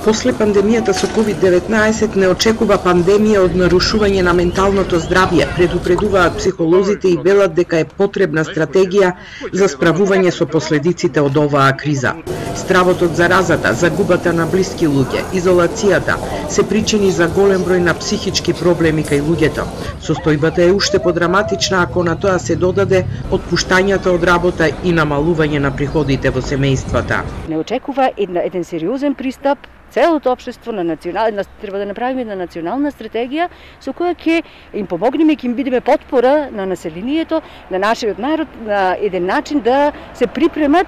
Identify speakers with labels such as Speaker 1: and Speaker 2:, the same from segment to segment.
Speaker 1: После пандемијата со COVID-19 не очекува пандемија од нарушување на менталното здравје, предупредуваат психолозите и велат дека е потребна стратегија за справување со последиците од оваа криза. Стравот од заразата, загубата на блиски луѓе, изолацијата се причини за голем број на психички проблеми кај луѓето. Состојбата е уште подраматична ако на тоа се додаде отпуштањата од работа и намалување на приходите во семејствата.
Speaker 2: Не очекува еден сериозен пристап. Целото општество треба да направиме една национална стратегија со која ќе им помогнеме, ќе им бидеме потпора на населението, на нашиот народ, на еден начин да се припремат,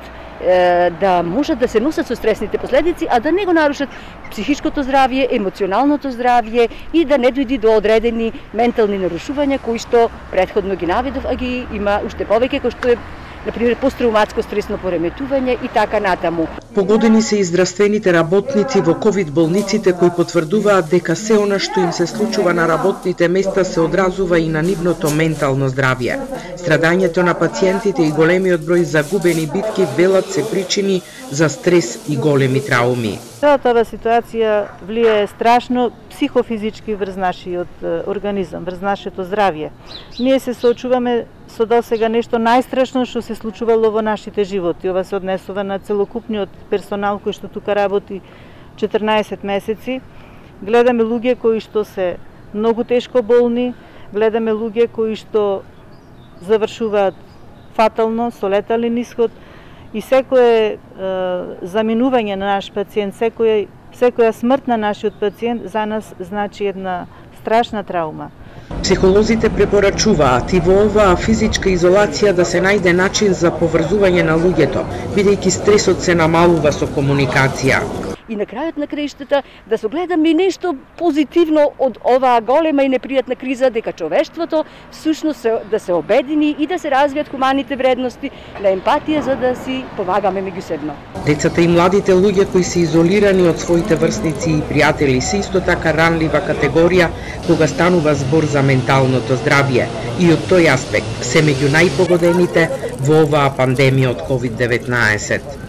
Speaker 2: да можат да се носат со стресните последици, а да не го нарушат психичкото здравје, емоционалното здравје и да не дојди до одредени ментални нарушувања кои што претходно ги наведов, а ги има уште повеќе, кои што е например посттравматско стресно пореметување и така натаму.
Speaker 1: Погодени се и здравствените работници во ковид болниците кои потврдуваат дека се она што им се случува на работните места се одразува и на нивното ментално здравје. Страдањето на пациентите и големиот број загубени битки велат се причини за стрес и големи трауми.
Speaker 3: Целата оваа ситуација влијае страшно психофизички врз нашиот организам, врз нашето здравје. Ние се соочуваме со досега нешто најстрашно што се случувало во нашите животи. Ова се однесува на целокупниот персонал кој што тука работи 14 месеци. Гледаме луѓе кои што се многу тешко болни, гледаме луѓе кои што завршуваат фатално со летален исход и секое заминување на наш пациент, секоја смрт на нашиот пациент за нас значи една страшна траума.
Speaker 1: Психолозите препорачуваат и во оваа физичка изолација да се најде начин за поврзување на луѓето, бидејќи стресот се намалува со комуникација.
Speaker 2: И на крајот на краиштата да се гледаме нешто позитивно од оваа голема и непријатна криза, дека човештвото всушност да се обедини и да се развијат хуманите вредности на емпатија за да си помагаме меѓусебно.
Speaker 1: Децата и младите луѓе кои се изолирани од своите врсници и пријатели се исто така ранлива категорија кога станува збор за менталното здравје и од тој аспект се меѓу најпогодените во оваа пандемија од COVID-19.